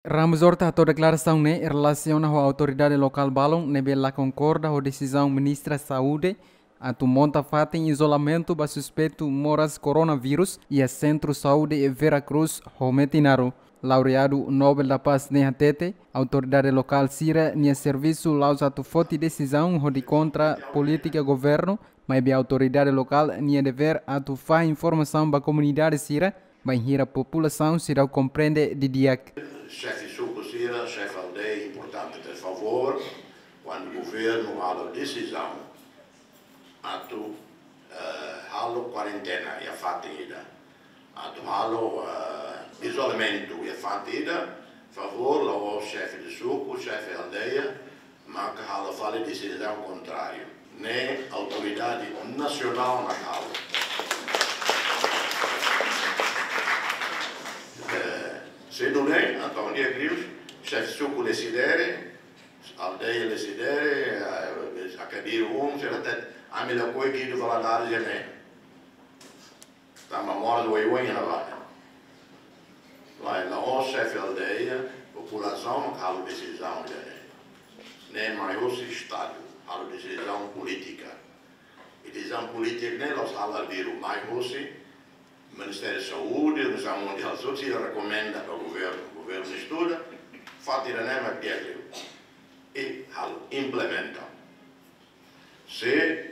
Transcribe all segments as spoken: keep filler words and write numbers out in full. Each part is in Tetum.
Ramos Horta hato'o deklarasaun ne'e relasiona ho autoridade lokál balun ne'ebé la konkorda ho desizaun Ministra Saúde atu monta fatin izolamentu ba suspeitu moras koronavírus iha Sentru Saúde Vera Cruz ho Metinaro. Laureadu Nobel da Paz ne'e hatete, autoridade lokál sira-nia servisu la'ós atu foti desizaun hodi kontra polítika governu, maibé autoridade lokál nia devér atu fahe informasaun ba komunidade sira, bainhira populasaun seidauk komprende didi'ak. Xefe suku sira, xefe aldeia, importante ter favór, kuandu governu halo desizaun atu, eh, halo kuarentena iha fatin ida, atu halo, eh, izolamentu iha fatin ida, favór, la'ós xefe de suku, xefe aldeia, maka halo fali desizaun kontráriu. Ne'e autoridade nasionál mak halo. Eh, se nune'e, entaun, di'ak liu, xefe suku desidere, aldeia desidere, eh, akadiru um, sira hatete, ami lakohi Guido Valadares iha ne'e. Tanba moras oioin iha ne'ebá. Lae, la'ós xefe aldeia, populasaun mak halo desizaun ida-ne'e. Ne'e mai husi Estadu, halo desizaun polítika. I desizaun polítika ne'e la'ós halo arbiru, mai husi Ministériu Saúde, Organizasaun Mundiál Saúde, sira rekomenda ba governu, governu estuda, fatin ida-ne'e mak di'ak liu. I halo, implementa. Se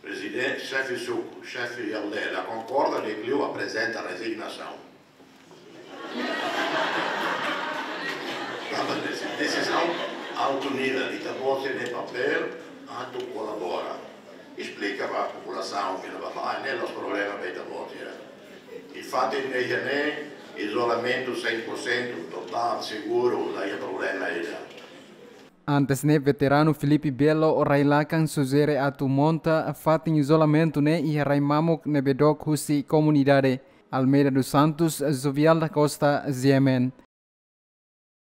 prezidente, xefe suku, xefe aldeia la konkorda, di'ak liu aprezenta rezignasaun. Tanba desi-, desizaun altu nivel, ita-boot sira-nia papél atu kolabora. Esplika ba populasaun, fila ba ba, ne'e la'ós problema ba ita-boot sira. I fatin ne'e, iha ne'e, izolamentu cem por cento, totál, seguru, la iha problema ida. Antes ne'e, veteranu Filipe Belo rai-lakan sujere atu monta fatin izolamentu ne'e iha rai mamuk ne'ebé dook husi komunidade. Almeida dos Santos, Jovial da Costa, G M N.